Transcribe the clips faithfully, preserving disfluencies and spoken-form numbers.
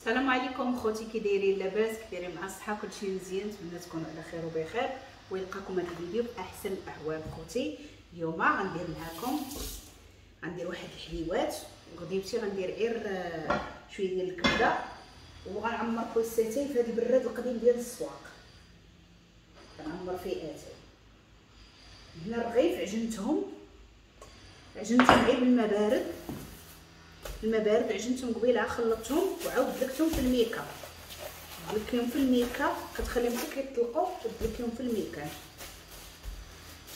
السلام عليكم خوتي، كي دايرين؟ لاباس؟ كي دايرين مع الصحة؟ كلشي مزيان؟ نتمنى تكونوا على خير وبخير ويلقاكم هذا الفيديو باحسن الاحوال. خوتي اليوم غندير معكم غندير واحد الحليوات وغديبتي غندير غير شوية ديال الكبده وغنعمر كوسيتين في هذا البراد القديم ديال السواق، كنعمر فيه اتاي. هنا الرغيف عجنتهم عجنتهم غير بالماء بارد، الماء بارد عجنتهم قبيلة، خلطتهم وعاود دلكتهم في الميكا، دلكيهم في الميكا كتخليهم حتى كيطلقوا ودلكيهم في الميكا.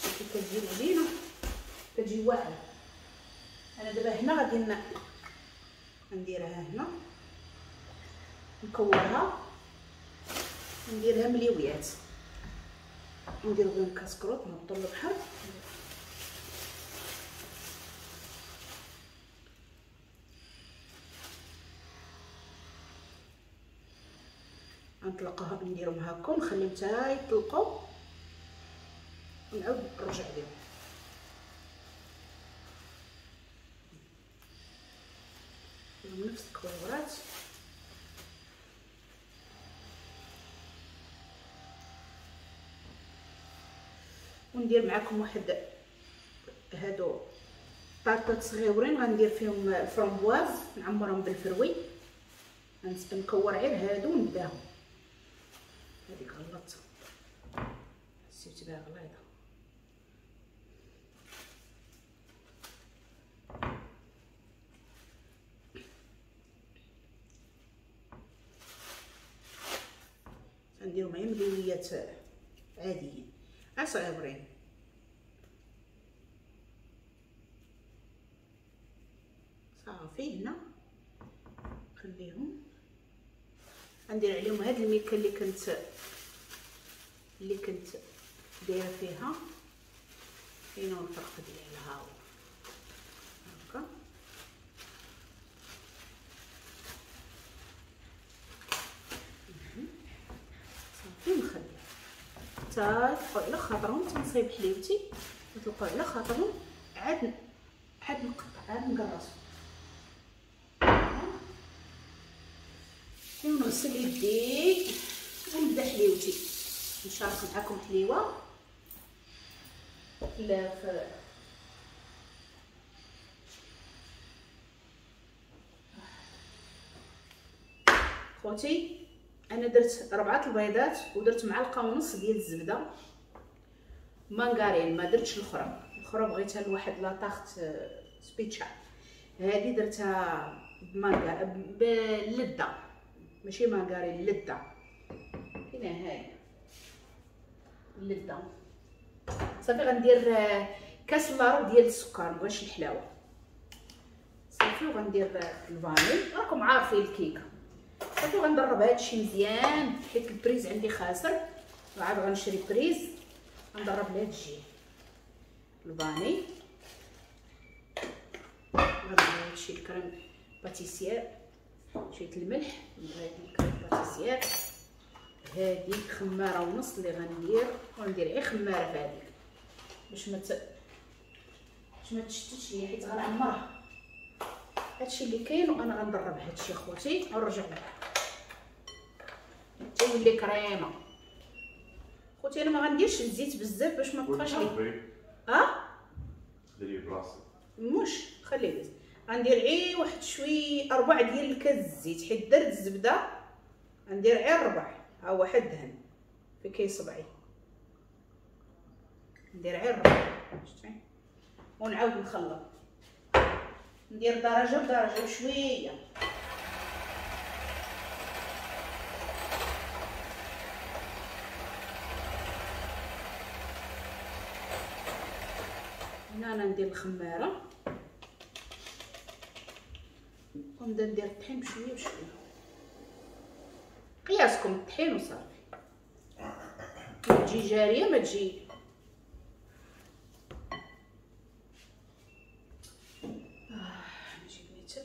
شوفي كتجي العجينة كتجي واعرة. انا دابا هنا غادي نديرها هنا، نكورها نديرها مليويات، ندير بهم كاسكروط نهبطو للبحر. غنطلقوها نديرهم هكا ونخليهم حتى يطلقوا ونعاود نرجع لهم. نديرهم نفس الكويرات. وندير معكم واحد هادو طارطات صغيورين غندير فيهم ال framboise، نعمرهم بال fruits، نكور غير هادو ونبداهم. هذيك غلطت حسيت بها غليظة. غنديرو معايا ملويات عاديين صغيورين. صافي هنا خليهم، غندير عليهم هاد الميكه اللي كنت اللي كنت دايرة فيها، فين هو الفرق ديالها هكا. صافي نخليها حتى يطلقوا على خاطرهم، تنصيب حليوتي يطلقوا على خاطرهم، عاد عاد نقطع عاد نقرصهم ونغسل يدي ونبدا حليوتي. نشارك معكم حليوه لا في خوتي. انا درت ربعه البيضات ودرت معلقه ونص ديال الزبدة مانغارين، ما درتش الاخرى، الاخرى بغيتها لواحد la tarte spéciale، هذه درتها بمانغا باللذه ماشي مانغارين، اللذة هنا هاي اللذة. صافي غندير كاس لارو ديال السكر، مبغيتش الحلاوة. صافي وغندير ال vanille، راكم عارفين الكيكه. صافي غندرب هادشي مزيان حيت ال prise عندي خاسر، وعاد غنشري prise غندرب لهاد الجهة ال vanille. غندير هادشي ال crème pâtissière، شوية الملح، ندير ال crème pâtissière. هاديك خمارة ونص اللي غندير، وغندير غير خمارة في هاديك باش ما ت... باش ما تشتتش ليا حيت غنعمرها. هادشي اللي كاين وانا غندرب هادشي خوتي ونرجع لكم تولي كريمة. خوتي انا ما غنديرش الزيت بزاف باش ما تبقاش لي اه ديري براسك مش خليه. غندير غير واحد شوي ربع ديال الكاس الزيت حيت درت الزبدة، غندير غير ربع، ها هو واحد دهن في كي صبعي، ندير غير ربع شتي، ونعاود نخلط، ندير درجه بدرجة شوية. هنا انا ندير الخماره ونبدا ندير الطحين بشوية بشوية، قياسكم الطحين وصافي، ما تجي جارية ما تجي. آه نجيب ميتر.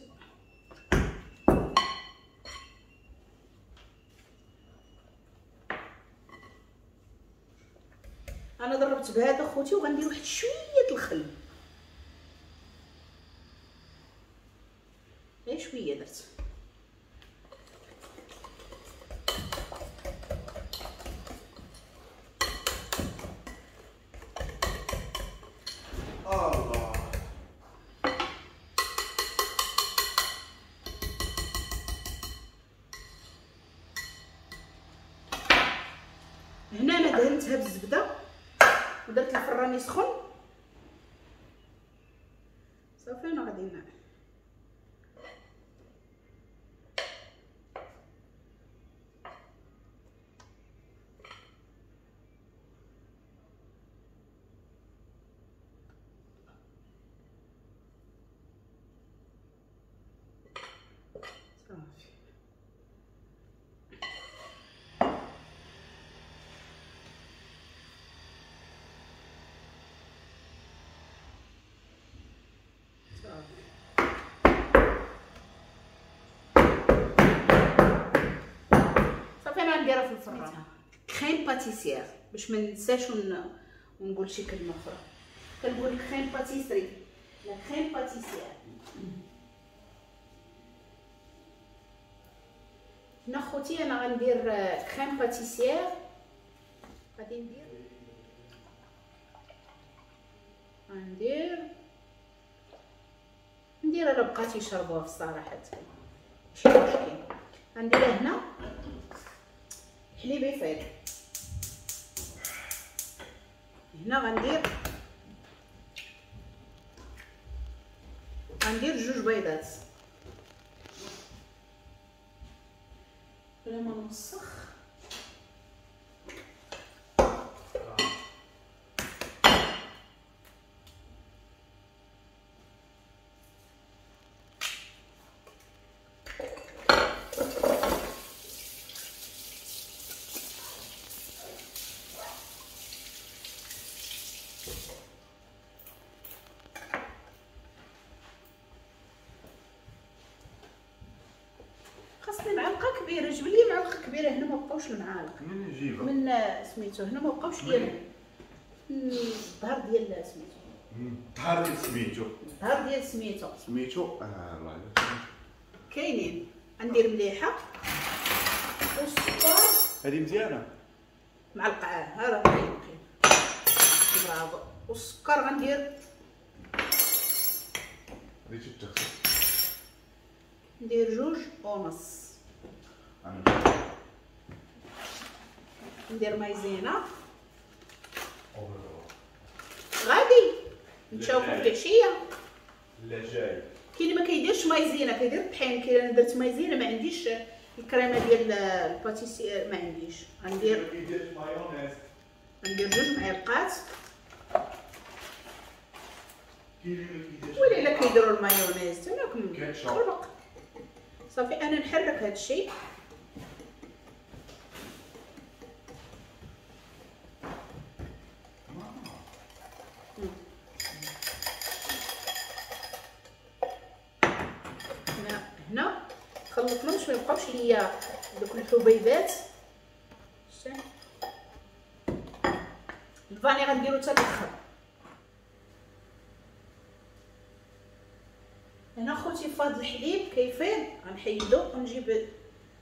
انا ضربت بهذا خوتي وغندير واحد شوية الخل، غير شوية درت. هنا انا دهنتها بالزبده ودرت الفران يسخن. صافي انا غادي نعمل صافي. صافي انا غنديرها في الفران crème pâtissière باش ما ننساش ونقول شي كلمة اخرى. كنقول crème pâtisserie la crème pâtissière. هنا خوتي انا غندير crème pâtissière، غادي ندير غندير ندير الا بقات يشربوها في الصراحة ماشي مشكل. غنديرها هنا حليب يفيض. هنا غندير غندير جوج بيضات بلا ما نوسخ. خاصني معلقه كبيرة، جيب لي معلقه كبيرة. هنا ما بقاوش المعالق من نجيبها من سميتو، هنا ما بقاوش ليا الظهر ديال سميتو، الظهر ديال سميتو، الظهر ديال سميتو سميتو اه الله كاينين. غندير مليحة والسكر هذه مزيانه معلقه، ها راه كاين برافو. والسكر غندير غادي تتغسل، ندير جوج ونص. ندير مايزينا. غادي نتشوفو في العشية. لا جاي كاين اللي ما كيديرش مايزينا كيدير الطحين. كاين انا درت مايزينا ما عنديش الكريمة ديال ال pâtissière ما عنديش. غندير مايونيز، غندير جوج معلقات. ولا الا كيديروا المايونيز تماك خربق. صافي انا نحرك هذا الشيء. هنا هنا خلطنا باش ما يبقاوش ليا دوك الحبيبات. شتي الفاني غنديرو حتى الاخر. هنا خوتي فاض الحليب كيفيض غنحيدو ونجيب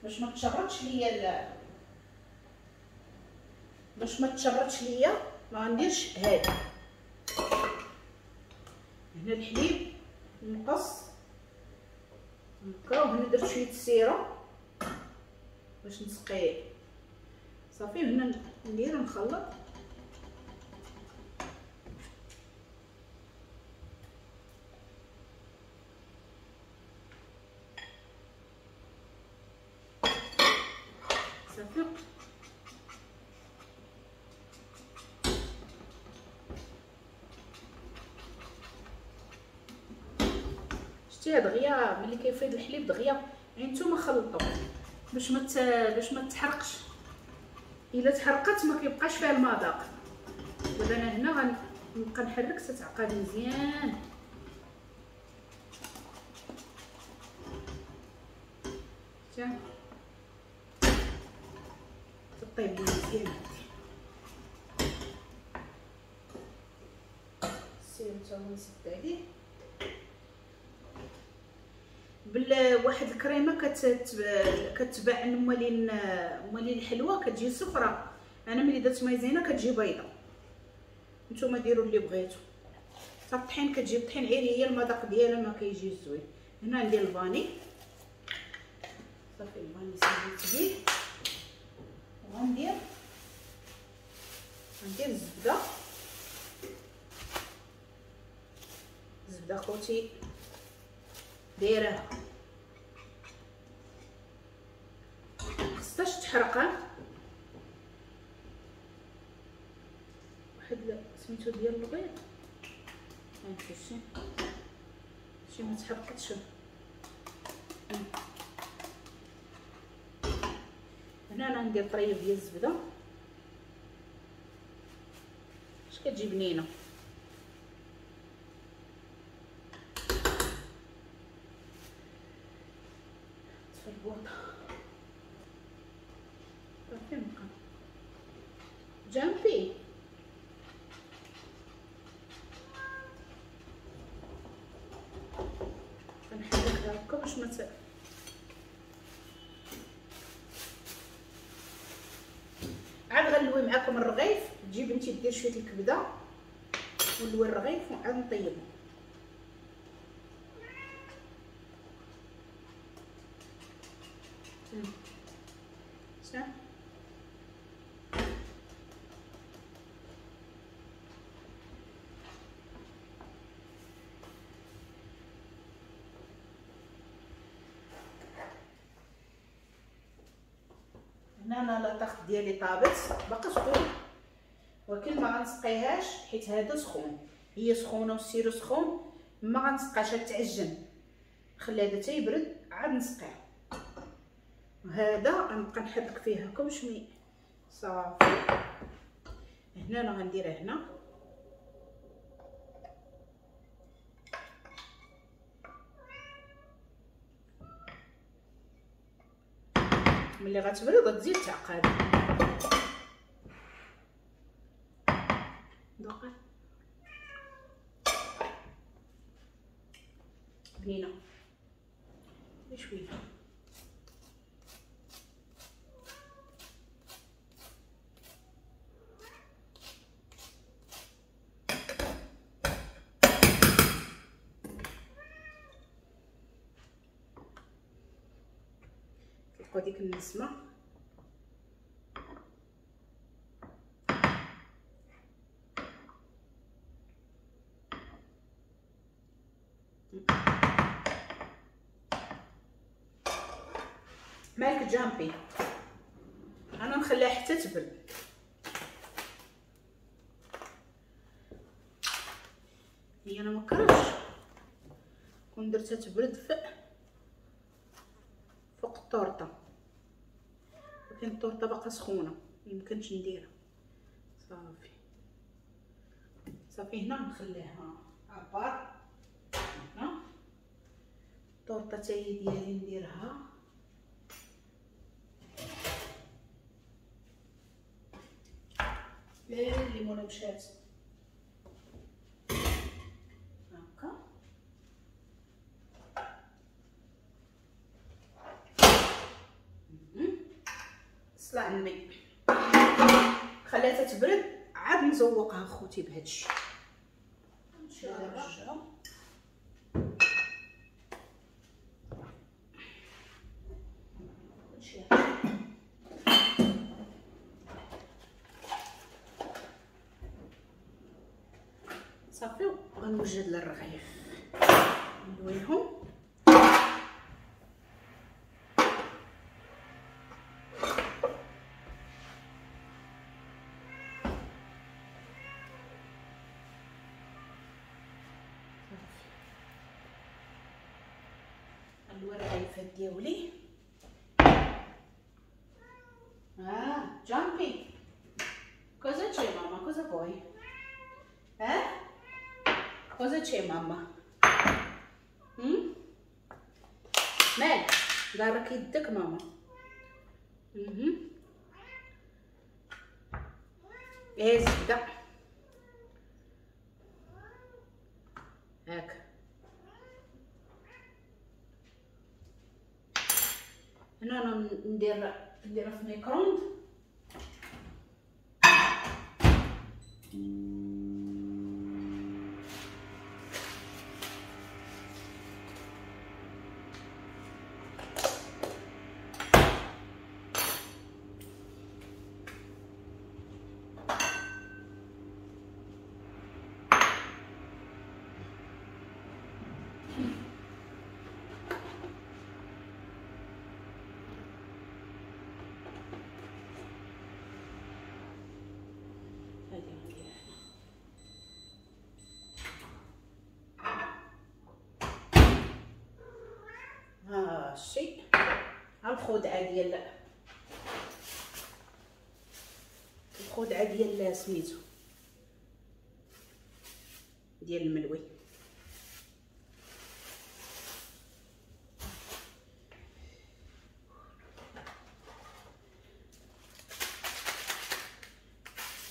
باش ما تشرطش ليا، باش ما تشرطش ليا ما غنديرش هادي. هنا الحليب نقص هكا، وهنا درت شوية السيرة باش نسقيه. صافي هنا ندير نخلط. صافي شتيها دغيا ملي كيفيض الحليب دغيا، يعني نتوما خلطوا باش ما باش ما تحرقش. الا تحرقت ما كيبقاش فيها المذاق. دابا انا هنا غنبقى نحرك حتى تعقد مزيان. شتي طيب مزيان. السيرو تا هو نسد عليه بواحد الكريمة كتباع عند مالين مالين الحلوة كتجي صفرة. انا ملي درت مايزينا كتجي بيضة. نتوما ديروا اللي بغيتو. حتى الطحين كتجي الطحين غير هي المذاق ديالها ما كيجيش زوين. هنا ندير ال vanille. صافي ال vanille ساليت بيه. وغندير ندير الزبدة. الزبدة خوتي دايرة خصهاش تحرقها. واحد سميتو ديال البيض هانتي شي شي ما تحرقتش. هنا انا ندير طريف ديال الزبدة باش كتجي بنينه. طفي البوطه صافي نبقى جامبي. كنحركها هكا باش ما ت... عاد غنلوي معاكم الرغيف. تجيب انت دير شوية الكبده ونلوي الرغيف وعاد نطيبو. صح هنا انا la tarte ديالي طابت باقا سخون، ولكن ما غنسقيهاش حيت هذا سخون، هي سخونة وال sirop سخون، ما غنسقاش تعجن، نخلي هذا تيبرد عاد نسقيه. وهذا غنبقى نحرك فيه هكا باش مي صافي. هنا انا غنديرها هنا ملي غتبرد غتزيد تعقد. دوقه بنينه شوية. طلقوا ديك النسمه. مالك جامبي انا نخليها حتى تبرد. هي انا ما كرهتش كون درتها تبرد فوق الطورطه، ولكن الطورطه باقا سخونة ميمكنش نديرها. صافي صافي هنا نخليها à part. هنا الطورطه حتى هي ديالي نديرها. لا الليمونه مشات هكا. صلع عمي خليتها تبرد عاد نزوقها خوتي بهادشي. نرجعو كلشي صافي. غنوجد للرغيف نلويهم. غنلوي الرغيفات ديالي. اه جامبي cosa c'è mamma, cosa vuoi? Eh? Cosa c'è mamma? Mm? مالك دارك يدك ماما. اها ايه الزبدة هاك. هنا انا ندير نديرها في micro-ondes. هادشي ها الخدعه ديال الخدعه ديال سميتو ديال الملوي.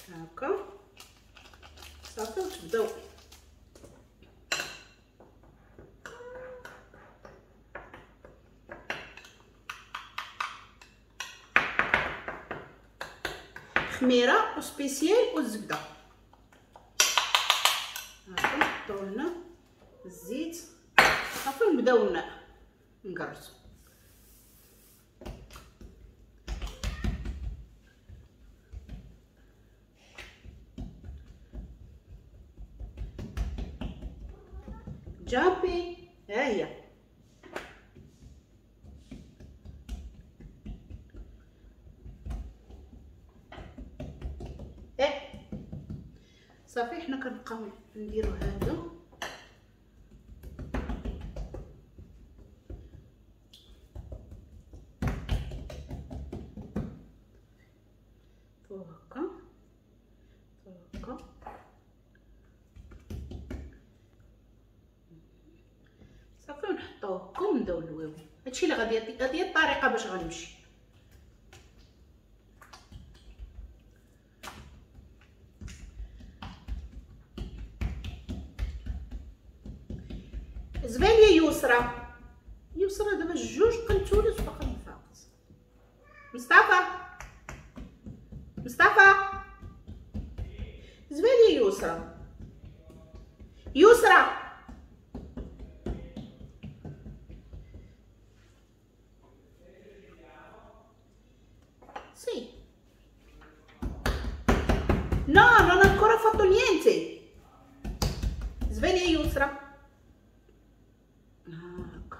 هكا صافي وتبداو خميره و spéciale والزبده. هاكا نحطو لنا الزيت صافي نبداو نقرصو. جامبي ها هي صافي. حنا كنبقاو نديرو هادو هكا هكا صافي ونحطوه هكا ونبداو نلويو. هادشي اللي غادي هادي هي الطريقة باش غنمشي. زباليه يسرى يسرى دابا جوج قنتولات باقا ما فاقت. مصطفى مصطفى زباليه يسرى يسرى Sì. No, non ho ancora fatto niente. Sveglia Yusra. Ecco.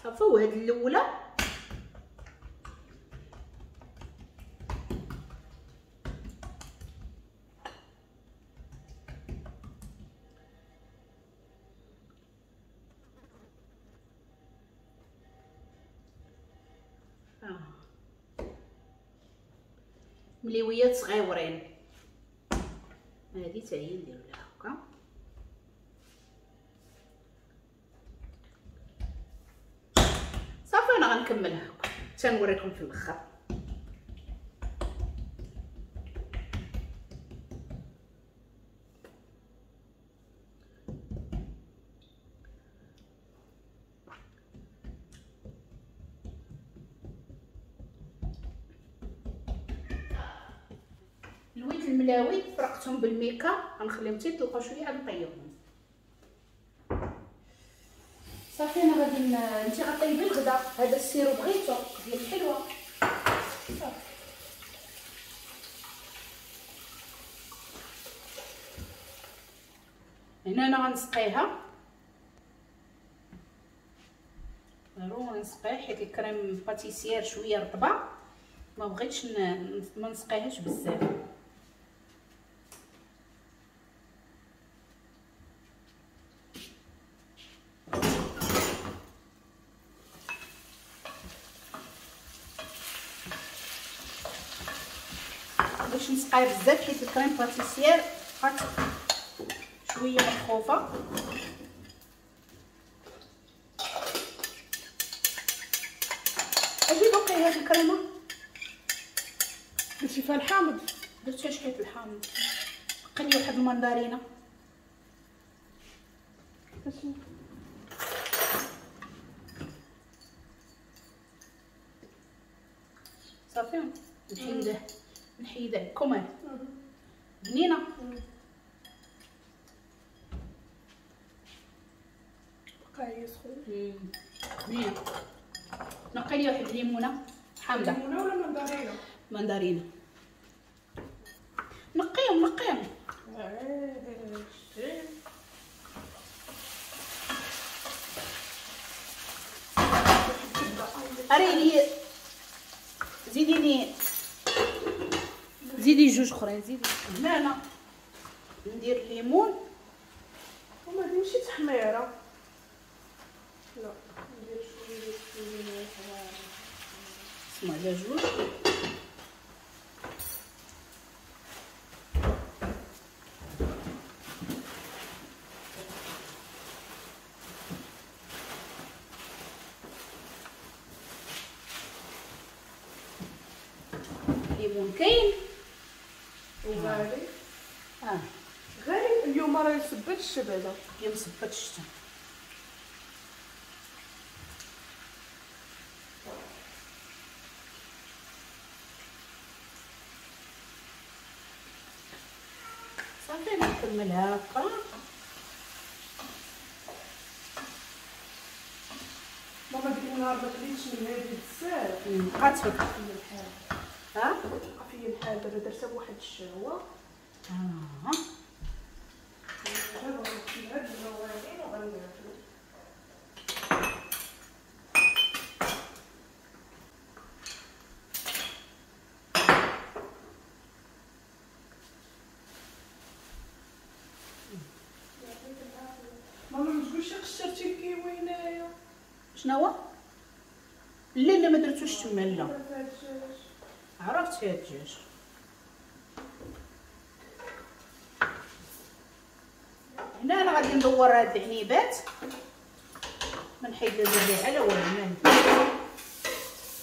صافي وهاد الاولى مليويات صغيورين. هادي حتى هي نديرو لها هكا. صافي انا غنكملها هكا حتى نوريكم في الاخر. لويت الملاوي فرقتهم بالميكا، غنخليهم حتى يطلقوا شوية عاد نطيبهم. صافي انا غادي انت غطيبي الغدا، هذا ال sirop بغيتو ديال الحلوة. صافي هنا انا غنسقيها ضروري نسقيها حيت ال crème pâtissière شوية رطبه، ما بغيتش ما نسقيهاش بزاف. باش نسقيها بزاف حيت ال crème pâtissière بقات شوية مخوفه. اجي باقي هاد الكريمة درتي فيها الحامض، درت فيها شوية الحامض، بقى لي واحد المندرينه. صافي نحيده نحيده كمان بنينه. بقى هي سخون بنينه. نقي لي واحد الليمونه حامضه. ليمونه ولا مندرينه؟ مندرينه. نقيهم نقيهم. اري لي زيديني زيدي جوج اخرين. دوري زيدي. هنا انا ندير الليمون. وما هادي ماشي تحميره. لا ندير شوية ديال الليمون. نسمع على جوج. الليمون كاين وغالي. اه غالي اليوم راه يصبت الشبعه. اليوم صبت الشتا. صافي نكمل هكا. ماما ديك النهار ما كليتش من هادي بزاف. بقات فيك الحال. ها بقى فيا الحال دابا درتها بواحد الشهوة. اه دابا غنمشي لهاد المواعين وغناكلو. ماما ما تقولش قشرتي الكيوي هنايا. شنو هو؟ لا لا ما درتوش تما. لا عرفت فيها الدجاج. هنا انا غادي ندور هاد العنيبات، ما نحيد لا زريعه لا والو. ما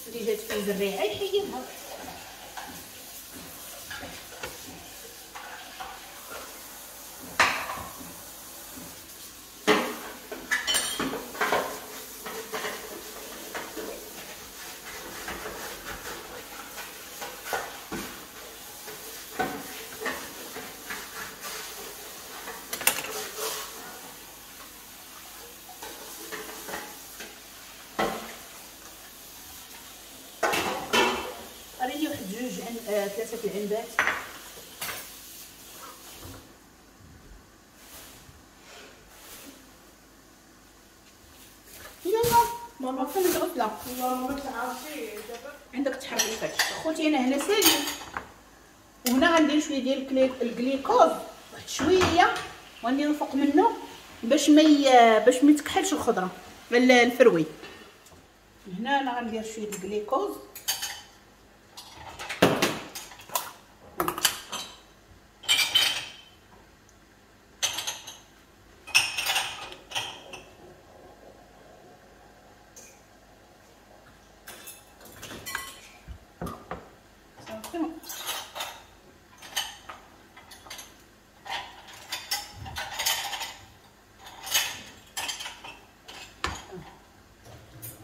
اللي جات فيه زريعه يحيدها. جوج عن آه، ثلاثة العنبات. يلا ماما فين العطلة؟ والله ما تعرفي دابا عندك تحريفات. خوتي انا هنا سالي، وهنا غندير شوية ديال الجليكوز واحد شوية، وغنديرو فوق منه باش ما ي... باش ما تكحلش الخضرة ال fruits. هنا انا غندير شوية الجليكوز.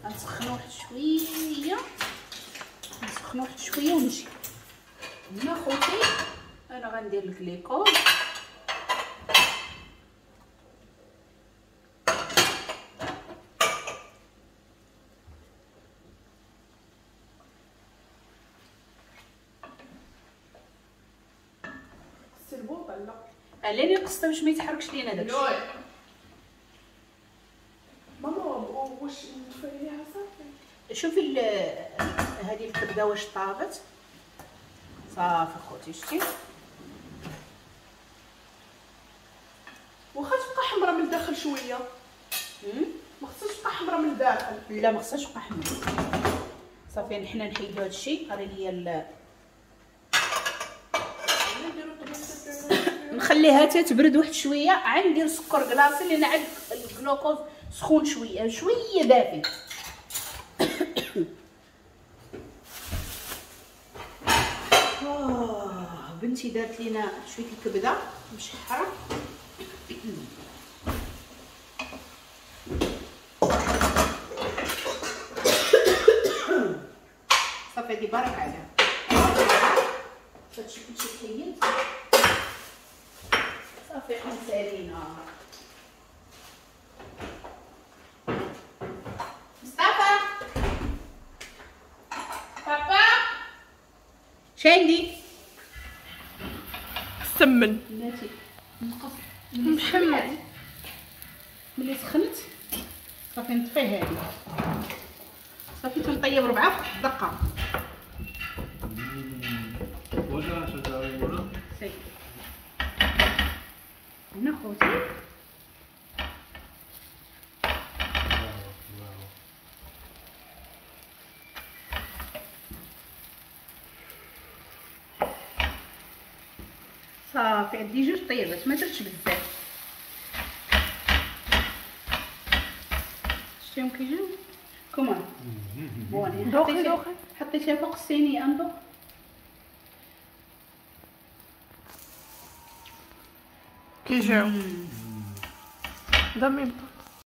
نسخنو واحد شوية، نسخنو واحد شوية ونجي. هنا خوتي انا غندير الكليكوز. السلبوطه لا علاني قصته باش ما يتحركش لينا داكشي. ماما واش نطفيها صافي؟ شوفي هذه الكبده واش طابت. صافي خوتي شتي، واخا تبقى حمراء من الداخل شوية. ما خصهاش تبقى حمراء من الداخل. لا ما خصهاش تبقى حمراء. صافي حنا نحيدو هادشي. قري ليا ال نخليها حتى تبرد واحد شوية. عاد ندير سكر glacé لان عاد الجلوكوز سخون شوية شوية دافي. آه بنتي دارت لينا شوية الكبده مشحره. صافي هادي بارك عليها. هادشي كلشي تحيد. صافي حنا سالينا. مصطفى بابا شاندي سمن بناتي نقص محمد ملي سخنت صافي نطفي هادي. صافي تنطيب ربعه في دقه. هنا خوتي صافي عندي جوج طيبات ما درتش بزاف. شتيهم كيجيو كمان bon. دوخي دوخي حطيتها فوق الصينية اندوق. كيجيو دميمطو.